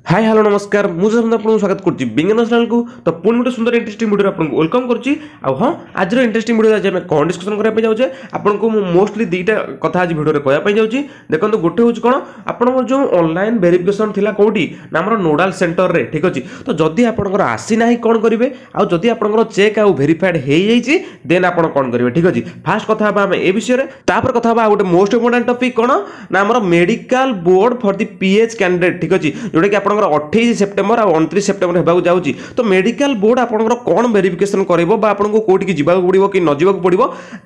High, hello, ନମସ୍କାର। ମୁଁ ଯଶବନ୍ତ ଆପଣଙ୍କୁ ସ୍ୱାଗତ କରୁଛି ବିଜ୍ଞାନ ଚ୍ୟାନେଲକୁ। ତ ପୁଣି ଗୋଟେ ସୁନ୍ଦର ଇଣ୍ଟରେଷ୍ଟିଂ ଭିଡ଼ିଓରେ ଆପଣଙ୍କୁ welcome କରୁଛି। ଆଉ ହଁ, ଆଜିର ଇଣ୍ଟରେଷ୍ଟିଂ ଭିଡ଼ିଓ ଆଜି ଆମେ କ'ଣ ଡିସ୍କସନ୍ କରିବା ପାଇଁ ଯାଉଛେ? ଆପଣଙ୍କୁ ମୁଁ ମୋଷ୍ଟଲି ଦୁଇଟା କଥା ଆଜି ଭିଡ଼ିଓରେ କହିବା ପାଇଁ ଯାଉଛି। ଦେଖନ୍ତୁ, ଗୋଟେ ହେଉଛି କ'ଣ, ଆପଣଙ୍କର ଯେଉଁ ଅନଲାଇନ୍ ଭେରିଫିକେସନ୍ ଥିଲା କେଉଁଠି ନା ଆମର ନୋଡାଲ ସେଣ୍ଟରରେ, ଠିକ୍ ଅଛି। ତ ଯଦି ଆପଣଙ୍କର ଆସିନାହିଁ, କ'ଣ କରିବେ? ଆଉ ଯଦି ଆପଣଙ୍କର ଚେକ୍ ଆଉ ଭେରିଫାଏଡ୍ ହେଇଯାଇଛି, ଦେନ୍ ଆପଣ କ'ଣ କରିବେ? ଠିକ୍ ଅଛି, ଫାଷ୍ଟ କଥା ହେବା ଆମେ ଏ ବିଷୟରେ। ତାପରେ କଥା ହେବା ଆଉ ଗୋଟେ ମୋଷ୍ଟ ଇମ୍ପୋର୍ଟାଣ୍ଟ ଟପିକ୍ କ'ଣ ନା ଆମର medical board for the PH candidate, ଠିକ୍ ଅଛି, ଯେଉଁଟାକି ଆପଣଙ୍କର 28 ସେପ୍ଟେମ୍ବର ଆଉ 29 ସେପ୍ଟେମ୍ବର ହେବାକୁ ଯାଉଛି। ତ ମେଡିକାଲ ବୋର୍ଡ ଆପଣଙ୍କର କ'ଣ ଭେରିଫିକେସନ୍ କରିବ ବା ଆପଣଙ୍କୁ କୋଉଠିକି ଯିବାକୁ ପଡ଼ିବ କି ନ ଯିବାକୁ ପଡ଼ିବ,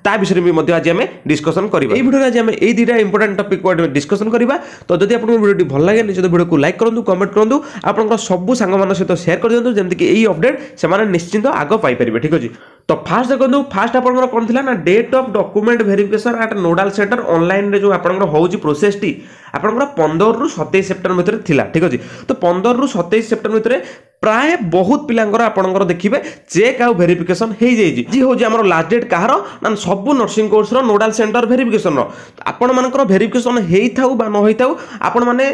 ତା ବିଷୟରେ ବି ମଧ୍ୟ ଆଜି ଆମେ ଡିସ୍କସନ୍ କରିବା। ଏଇ ଭିଡ଼ିଓରେ ଆଜି ଆମେ ଏଇ ଦୁଇଟା ଇମ୍ପୋର୍ଟାଣ୍ଟ ଟପିକ୍ ଡିସ୍କସନ୍ କରିବା। ତ ଯଦି ଆପଣଙ୍କୁ ଭିଡ଼ିଓଟି ଭଲ ଲାଗେ, ନିଶ୍ଚିତ ଭିଡ଼ିଓକୁ ଲାଇକ୍ କରନ୍ତୁ, କମେଣ୍ଟ କରନ୍ତୁ, ଆପଣଙ୍କର ସବୁ ସାଙ୍ଗମାନଙ୍କ ସହିତ ସେୟାର କରିଦିଅନ୍ତୁ, ଯେମିତିକି ଏଇ ଅପଡେଟ୍ ସେମାନେ ନିଶ୍ଚିନ୍ତ ଆଗ ପାଇପାରିବେ। ଠିକ୍ ଅଛି। ତ ଫାଷ୍ଟ ଦେଖନ୍ତୁ, ଫାଷ୍ଟ ଆପଣଙ୍କର କ'ଣ ଥିଲା ନା date of document verification at nodal center ଅନଲାଇନରେ ଯେଉଁ ଆପଣଙ୍କର ହେଉଛି ପ୍ରୋସେସଟି ଆପଣଙ୍କର 15ରୁ 27 ସେପ୍ଟେମ୍ବର ଭିତରେ ଥିଲା। ଠିକ୍ ଅଛି। ତ 15ରୁ 27 ସେପ୍ଟେମ୍ବର ଭିତରେ ପ୍ରାୟ ବହୁତ ପିଲାଙ୍କର ଆପଣଙ୍କର ଦେଖିବେ ଚେକ୍ ଆଉ ଭେରିଫିକେସନ୍ ହେଇଯାଇଛି। ଆଜି ହେଉଛି ଆମର ଲାଷ୍ଟ ଡେଟ୍ କାହାର ନା ସବୁ ନର୍ସିଂ କୋର୍ସର ନୋଡାଲ ସେଣ୍ଟର ଭେରିଫିକେସନର। ଆପଣମାନଙ୍କର ଭେରିଫିକେସନ୍ ହେଇଥାଉ ବା ନ ହେଇଥାଉ, ଆପଣମାନେ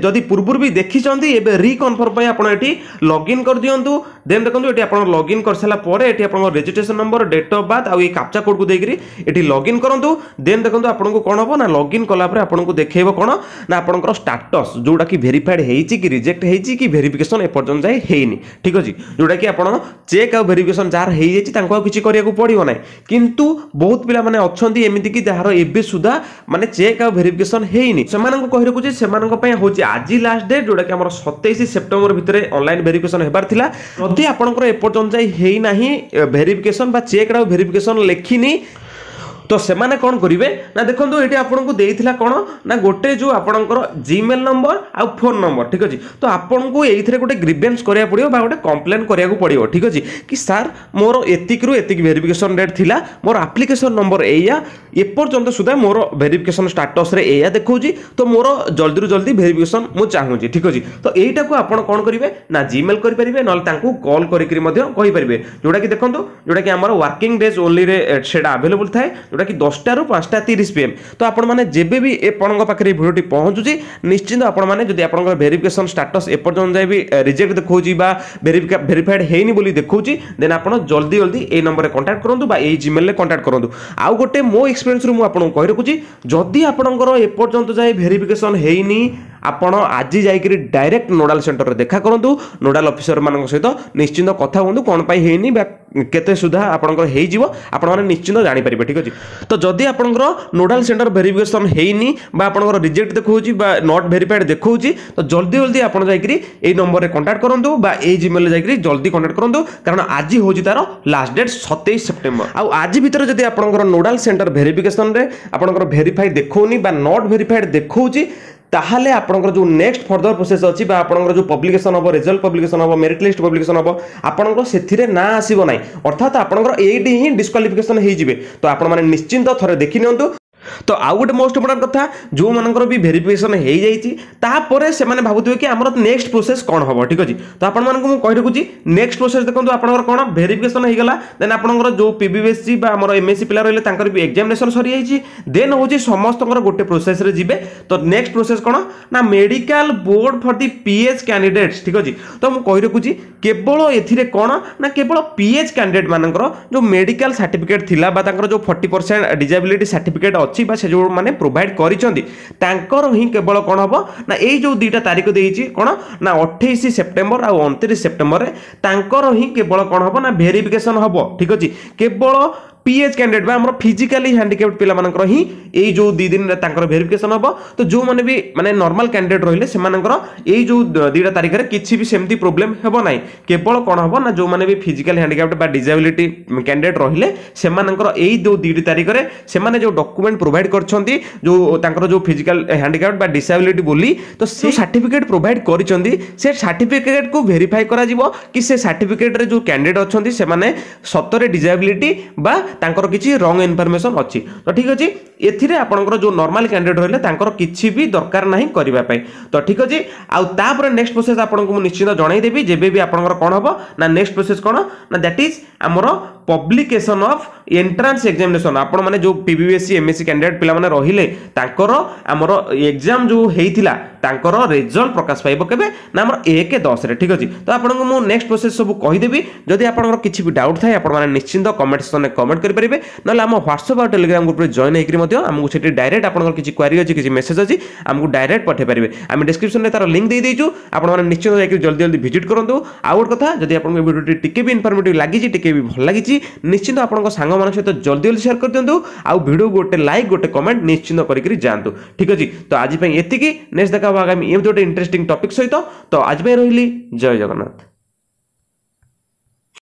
ଯଦି ପୂର୍ବରୁ ବି ଦେଖିଛନ୍ତି, ଏବେ ରିକନଫର୍ମ ପାଇଁ ଆପଣ ଏଠି ଲଗ୍ଇନ୍ କରିଦିଅନ୍ତୁ। ଦେନ୍ ଦେଖନ୍ତୁ, ଏଠି ଆପଣ ଲଗ୍ଇନ୍ କରିସାରିଲା ପରେ ଏଠି ଆପଣଙ୍କ registration number, date of birth ଆଉ ଏଇ କାପଚା କୋଡ଼କୁ ଦେଇକରି ଏଠି ଲଗ୍ଇନ୍ କରନ୍ତୁ। ଦେନ୍ ଦେଖନ୍ତୁ, ଆପଣଙ୍କୁ କ'ଣ ହେବ ନା ଲଗ୍ଇନ୍ କଲା ପରେ ଆପଣଙ୍କୁ ଦେଖେଇବ କ'ଣ ନା ଆପଣଙ୍କର ଷ୍ଟାଟସ୍, ଯେଉଁଟାକି ଭେରିଫାଏଡ୍ ହେଇଛି କି ରିଜେକ୍ଟ ହେଇଛି କି ଭେରିଫିକେସନ୍ ଏପର୍ଯ୍ୟନ୍ତ ଯାଏ ହେଇନି। ଠିକ୍ ଅଛି। ଯେଉଁଟାକି ଆପଣ ଚେକ୍ ଆଉ ଭେରିଫିକେସନ୍ ଯାହାର ହେଇଯାଇଛି, ତାଙ୍କୁ ଆଉ କିଛି କରିବାକୁ ପଡ଼ିବ ନାହିଁ। କିନ୍ତୁ ବହୁତ ପିଲାମାନେ ଅଛନ୍ତି ଏମିତିକି ଯାହାର ଏବେ ସୁଦ୍ଧା ମାନେ ଚେକ୍ ଆଉ ଭେରିଫିକେସନ୍ ହେଇନି। ସେମାନଙ୍କୁ କହି ରଖୁଛି, ସେମାନଙ୍କ ପାଇଁ ହେଉଛି ଆଜି ଲାଷ୍ଟ ଡେଟ୍, ଯେଉଁଟାକି ଆମର 27 ସେପ୍ଟେମ୍ବର ଭିତରେ ଅନଲାଇନ୍ ଭେରିଫିକେସନ୍ ହେବାର ଥିଲା। ଯଦି ଆପଣଙ୍କର ଏପର୍ଯ୍ୟନ୍ତ ଯାଇ ହେଇନାହିଁ ଭେରିଫିକେସନ୍ ବା ଚେକ୍ ଆଉ ଭେରିଫିକେସନ୍ ଲେଖିନି, ତ ସେମାନେ କ'ଣ କରିବେ ନା ଦେଖନ୍ତୁ, ଏଠି ଆପଣଙ୍କୁ ଦେଇଥିଲା କ'ଣ ନା ଗୋଟେ ଯେଉଁ ଆପଣଙ୍କର ଜିମେଲ୍ ନମ୍ବର ଆଉ ଫୋନ୍ ନମ୍ବର। ଠିକ୍ ଅଛି। ତ ଆପଣଙ୍କୁ ଏଇଥିରେ ଗୋଟେ ଗ୍ରିଭେନ୍ସ କରିବାକୁ ପଡ଼ିବ ବା ଗୋଟେ କମ୍ପ୍ଲେନ୍ କରିବାକୁ ପଡ଼ିବ, ଠିକ୍ ଅଛି, କି ସାର୍, ମୋର ଏତିକିରୁ ଏତିକି ଭେରିଫିକେସନ୍ ଡେଟ୍ ଥିଲା, ମୋର ଆପ୍ଲିକେସନ୍ ନମ୍ବର ଏଇଆ, ଏପର୍ଯ୍ୟନ୍ତ ସୁଦ୍ଧା ମୋର ଭେରିଫିକେସନ୍ ଷ୍ଟାଟସ୍ରେ ଏଇଆ ଦେଖାଉଛି, ତ ମୋର ଜଲ୍ଦିରୁ ଜଲ୍ଦି ଭେରିଫିକେସନ୍ ମୁଁ ଚାହୁଁଛି। ଠିକ୍ ଅଛି। ତ ଏଇଟାକୁ ଆପଣ କ'ଣ କରିବେ ନା ଜିମେଲ୍ କରିପାରିବେ, ନହେଲେ ତାଙ୍କୁ କଲ୍ କରିକିରି ମଧ୍ୟ କହିପାରିବେ। ଯେଉଁଟାକି ଦେଖନ୍ତୁ, ଯେଉଁଟାକି ଆମର ୱାର୍କିଂ ଡେଜ୍ ଓନ୍ଲିରେ ସେଇଟା ଆଭେଲେବୁଲ୍ ଥାଏ, ଯେଉଁଟାକି 10ଟାରୁ 5:30 ପିଏମ୍। ତ ଆପଣମାନେ ଯେବେ ବି ଆପଣଙ୍କ ପାଖରେ ଏଇ ଭିଡ଼ିଓଟି ପହଞ୍ଚୁଛି, ନିଶ୍ଚିନ୍ତ ଆପଣମାନେ ଯଦି ଆପଣଙ୍କର ଭେରିଫିକେସନ୍ ଷ୍ଟାଟସ୍ ଏପର୍ଯ୍ୟନ୍ତ ଯାଏ ବି ରିଜେକ୍ଟ ଦେଖାଉଛି ବା ଭେରିଫାଏଡ୍ ହେଇନି ବୋଲି ଦେଖାଉଛି, ଦେନ୍ ଆପଣ ଜଲ୍ଦି ଜଲ୍ଦି ଏଇ ନମ୍ବରରେ କଣ୍ଟାକ୍ଟ କରନ୍ତୁ ବା ଏଇ ଜିମେଲ୍ରେ କଣ୍ଟାକ୍ଟ କରନ୍ତୁ। ଆଉ ଗୋଟେ ମୋ ଏକ୍ସପିରିଏନ୍ସରୁ ମୁଁ ଆପଣଙ୍କୁ କହି ରଖୁଛି, ଯଦି ଆପଣଙ୍କର ଏପର୍ଯ୍ୟନ୍ତ ଯାଏ ଭେରିଫିକେସନ୍ ହେଇନି, ଆପଣ ଆଜି ଯାଇକରି ଡାଇରେକ୍ଟ ନୋଡାଲ ସେଣ୍ଟରରେ ଦେଖା କରନ୍ତୁ। ନୋଡାଲ ଅଫିସରମାନଙ୍କ ସହିତ ନିଶ୍ଚିନ୍ତ କଥା ହୁଅନ୍ତୁ, କ'ଣ ପାଇଁ ହେଇନି ବା କେତେ ସୁଦ୍ଧା ଆପଣଙ୍କର ହେଇଯିବ, ଆପଣମାନେ ନିଶ୍ଚିନ୍ତ ଜାଣିପାରିବେ। ଠିକ୍ ଅଛି। ତ ଯଦି ଆପଣଙ୍କର ନୋଡାଲ ସେଣ୍ଟର ଭେରିଫିକେସନ୍ ହେଇନି ବା ଆପଣଙ୍କର ରିଜେକ୍ଟ ଦେଖାଉଛି ବା not verified ଦେଖାଉଛି, ତ ଜଲ୍ଦି ଜଲ୍ଦି ଆପଣ ଯାଇକରି ଏଇ ନମ୍ବରରେ କଣ୍ଟାକ୍ଟ କରନ୍ତୁ ବା ଏଇ ଜିମେଲ୍ରେ ଯାଇକରି ଜଲ୍ଦି କଣ୍ଟାକ୍ଟ କରନ୍ତୁ, କାରଣ ଆଜି ହେଉଛି ତାର ଲାଷ୍ଟ ଡେଟ୍ 27 ସେପ୍ଟେମ୍ବର। ଆଉ ଆଜି ଭିତରେ ଯଦି ଆପଣଙ୍କର ନୋଡାଲ ସେଣ୍ଟର ଭେରିଫିକେସନରେ ଆପଣଙ୍କର ଭେରିଫାଇ ଦେଖାଉନି ବା not verified ଦେଖାଉଛି, ତାହେଲେ ଆପଣଙ୍କର ଯେଉଁ ନେକ୍ସଟ ଫର୍ଦର ପ୍ରୋସେସ୍ ଅଛି ବା ଆପଣଙ୍କର ଯେଉଁ ପବ୍ଲିକେସନ୍ ହେବ, ରେଜଲ୍ଟ ପବ୍ଲିକେସନ୍ ହେବ, ମେରିଟ୍ ଲିଷ୍ଟ ପବ୍ଲିକେସନ୍ ହେବ, ଆପଣଙ୍କର ସେଥିରେ ନାଁ ଆସିବ ନାହିଁ। ଅର୍ଥାତ୍ ଆପଣଙ୍କର ଏଇଠି ହିଁ ଡିସ୍କ୍ୱାଲିଫିକେସନ୍ ହେଇଯିବେ। ତ ଆପଣମାନେ ନିଶ୍ଚିନ୍ତ ଥରେ ଦେଖି ନିଅନ୍ତୁ। ତ ଆଉ ଗୋଟେ ମୋଷ୍ଟ ଇମ୍ପୋର୍ଟାଣ୍ଟ କଥା, ଯେଉଁମାନଙ୍କର ବି ଭେରିଫିକେସନ୍ ହେଇଯାଇଛି, ତାପରେ ସେମାନେ ଭାବୁଥିବେ କି ଆମର ନେକ୍ସଟ ପ୍ରୋସେସ୍ କ'ଣ ହେବ। ଠିକ୍ ଅଛି। ତ ଆପଣମାନଙ୍କୁ ମୁଁ କହି ରଖୁଛି, ନେକ୍ସଟ ପ୍ରୋସେସ୍ ଦେଖନ୍ତୁ, ଆପଣଙ୍କର କ'ଣ ଭେରିଫିକେସନ୍ ହେଇଗଲା, ଦେନ୍ ଆପଣଙ୍କର ଯେଉଁ ପିବିଏସସି ବା ଆମର ଏମ୍ଏସସି ପିଲା ରହିଲେ, ତାଙ୍କର ବି ଏକ୍ଜାମିନେସନ୍ ସରିଯାଇଛି। ଦେନ୍ ହେଉଛି ସମସ୍ତଙ୍କର ଗୋଟେ ପ୍ରୋସେସ୍ରେ ଯିବେ। ତ ନେକ୍ସଟ ପ୍ରୋସେସ୍ କ'ଣ ନା medical board for the PH candidates। ଠିକ୍ ଅଛି। ତ ମୁଁ କହି ରଖୁଛି, କେବଳ ଏଥିରେ କ'ଣ ନା କେବଳ ପିଏଚ୍ କ୍ୟାଣ୍ଡିଡେଟ୍ ମାନଙ୍କର ଯେଉଁ ମେଡିକାଲ ସାର୍ଟିଫିକେଟ୍ ଥିଲା ବା ତାଙ୍କର ଯେଉଁ 40% ଡିଜାବିଲିଟି ସାର୍ଟିଫିକେଟ୍ ଅଛି ବା ସେ ଯେଉଁମାନେ ପ୍ରୋଭାଇଡ଼ କରିଛନ୍ତି, ତାଙ୍କର ହିଁ କେବଳ କ'ଣ ହେବ ନା ଏଇ ଯେଉଁ ଦୁଇଟା ତାରିଖ ଦେଇଛି, କ'ଣ ନା 28 ସେପ୍ଟେମ୍ବର ଆଉ 29 ସେପ୍ଟେମ୍ବରରେ ତାଙ୍କର ହିଁ କେବଳ କ'ଣ ହେବ ନା ଭେରିଫିକେସନ୍ ହେବ। ଠିକ୍ ଅଛି। କେବଳ ପିଏଚ୍ କ୍ୟାଣ୍ଡିଡେଟ୍ ବା ଆମର ଫିଜିକାଲି ହ୍ୟାଣ୍ଡିକ୍ୟାପ୍ଟ ପିଲାମାନଙ୍କର ହିଁ ଏଇ ଯେଉଁ 2 ଦିନରେ ତାଙ୍କର ଭେରିଫିକେସନ୍ ହେବ। ତ ଯେଉଁମାନେ ବି ମାନେ ନର୍ମାଲ କ୍ୟାଣ୍ଡିଡେଟ୍ ରହିଲେ, ସେମାନଙ୍କର ଏଇ ଯେଉଁ ଦୁଇଟା ତାରିଖରେ କିଛି ବି ସେମିତି ପ୍ରୋବ୍ଲେମ୍ ହେବ ନାହିଁ। କେବଳ କ'ଣ ହେବ ନା ଯେଉଁମାନେ ବି ଫିଜିକାଲି ହ୍ୟାଣ୍ଡିକ୍ୟାପ୍ଟ ବା ଡିଜାବିଲିଟି କ୍ୟାଣ୍ଡିଡେଟ୍ ରହିଲେ, ସେମାନଙ୍କର ଏଇ ଯେଉଁ ଦୁଇଟି ତାରିଖରେ ସେମାନେ ଯେଉଁ ଡକୁମେଣ୍ଟ ପ୍ରୋଭାଇଡ଼ କରିଛନ୍ତି, ଯେଉଁ ତାଙ୍କର ଯେଉଁ ଫିଜିକାଲ ହ୍ୟାଣ୍ଡିକ୍ୟାପ୍ଟ ବା ଡିସାବିଲିଟି ବୋଲି ତ ସେ ସାର୍ଟିଫିକେଟ୍ ପ୍ରୋଭାଇଡ଼ କରିଛନ୍ତି, ସେ ସାର୍ଟିଫିକେଟ୍କୁ ଭେରିଫାଇ କରାଯିବ କି ସେ ସାର୍ଟିଫିକେଟ୍ରେ ଯେଉଁ କ୍ୟାଣ୍ଡିଡେଟ୍ ଅଛନ୍ତି, ସେମାନେ ସତରେ ଡିଜାବିଲିଟି ବା ତାଙ୍କର କିଛି ରଙ୍ଗ ଇନଫର୍ମେସନ୍ ଅଛି। ତ ଠିକ୍ ଅଛି, ଏଥିରେ ଆପଣଙ୍କର ଯେଉଁ ନର୍ମାଲ କ୍ୟାଣ୍ଡିଡେଟ୍ ରହିଲେ, ତାଙ୍କର କିଛି ବି ଦରକାର ନାହିଁ କରିବା ପାଇଁ। ତ ଠିକ୍ ଅଛି। ଆଉ ତାପରେ ନେକ୍ସଟ ପ୍ରୋସେସ୍ ଆପଣଙ୍କୁ ମୁଁ ନିଶ୍ଚିତ ଜଣାଇଦେବି, ଯେବେ ବି ଆପଣଙ୍କର କ'ଣ ହେବ ନା ନେକ୍ସଟ ପ୍ରୋସେସ୍ କ'ଣ ନା that is ଆମର ପବ୍ଲିକେସନ୍ ଅଫ୍ ଏଣ୍ଟ୍ରାନ୍ସ ଏକ୍ଜାମିନେସନ୍। ଆପଣମାନେ ଯେଉଁ P B S C M S C candidate ପିଲାମାନେ ରହିଲେ, ତାଙ୍କର ଆମର ଏକ୍ଜାମ୍ ଯେଉଁ ହେଇଥିଲା ତାଙ୍କର ରେଜଲ୍ଟ ପ୍ରକାଶ ପାଇବ କେବେ ନା ଆମର 1/10ରେ। ଠିକ୍ ଅଛି, ତ ଆପଣଙ୍କୁ ମୁଁ ନେକ୍ସଟ ପ୍ରୋସେସ୍ ସବୁ କହିଦେବି। ଯଦି ଆପଣଙ୍କର କିଛି ବି ଡାଉଟ୍ ଥାଏ, ଆପଣମାନେ ନିଶ୍ଚିନ୍ତ କମେଣ୍ଟ ସେକ୍ସନରେ କମେଣ୍ଟ କରିପାରିବେ, ନହେଲେ ଆମ ହ୍ୱାଟ୍ସଆପ୍ ଆଉ ଟେଲିଗ୍ରାମ ଗ୍ରୁପରେ ଜଏନ୍ ହେଇକରି ମଧ୍ୟ ଆମକୁ ସେଠି ଡାଇରେକ୍ଟ ଆପଣଙ୍କର କିଛି କ୍ୱାରି ଅଛି, କିଛି ମେସେଜ୍ ଅଛି, ଆମକୁ ଡାଇରେକ୍ଟ ପଠାଇ ପାରିବେ। ଆମେ ଡିସ୍କ୍ରିପ୍ସନରେ ତାର ଲିଙ୍କ୍ ଦେଇଦେଇଛୁ, ଆପଣମାନେ ନିଶ୍ଚିନ୍ତ ଯାଇକି ଜଲ୍ଦି ଜଲ୍ଦି ଭିଜିଟ୍ କରନ୍ତୁ। ଆଉ ଗୋଟେ କଥା, ଯଦି ଆପଣଙ୍କୁ ଏ ଭିଡ଼ିଓଟି ଟିକେ ବି ଇନଫର୍ମେଟିଭ୍ ଲାଗିଛି, ଟିକେ ବି ଭଲ ଲାଗିଛି, ନିଶ୍ଚିନ୍ତ ଆପଣଙ୍କ ସାଙ୍ଗମାନଙ୍କ ସହିତ ଜଲ୍ଦି ଜଲ୍ଦି ସେୟାର କରିଦିଅନ୍ତୁ ଆଉ ଭିଡ଼ିଓ ଗୋଟେ ଲାଇକ୍, ଗୋଟେ କମେଣ୍ଟ ନିଶ୍ଚିନ୍ତ କରିକି ଯାଆନ୍ତୁ। ଠିକ୍ ଅଛି, ତ ଆଜି ପାଇଁ ଏତିକି। ନେକ୍ସଟ ଦେଖା ହେବ ଆଗାମୀ ଏମିତି ଗୋଟେ ଇଣ୍ଟରେଷ୍ଟିଂ ଟପିକ୍ ସହିତ। ତ ଆଜି ପାଇଁ ରହିଲି, ଜୟ ଜଗନ୍ନାଥ।